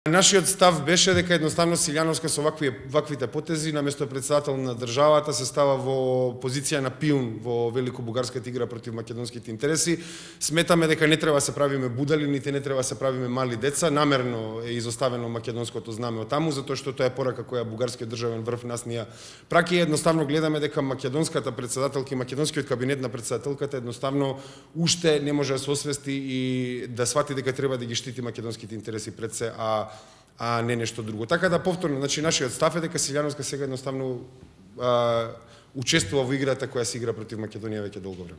Нашиот став беше дека едноставно Силјановска со ваквите потези наместо председател на државата се става во позиција на пиун во великобугарската игра против македонските интереси. Сметаме дека не треба да се правиме будали, нити не треба да се правиме мали деца. Намерно е изоставено македонското знаме од таму, затоа што тоа е порака која бугарскиот државен врв нас ни ја праќа. Едноставно гледаме дека македонската председателка и македонскиот кабинет на председателката едноставно уште не може да се освести и да свати дека треба да ги штити македонските интереси пред се, а не нешто друго. Така да повторно, значи нашиот став е дека Силјановска сега едноставно учествува во играта која се игра против Македонија веќе долго време.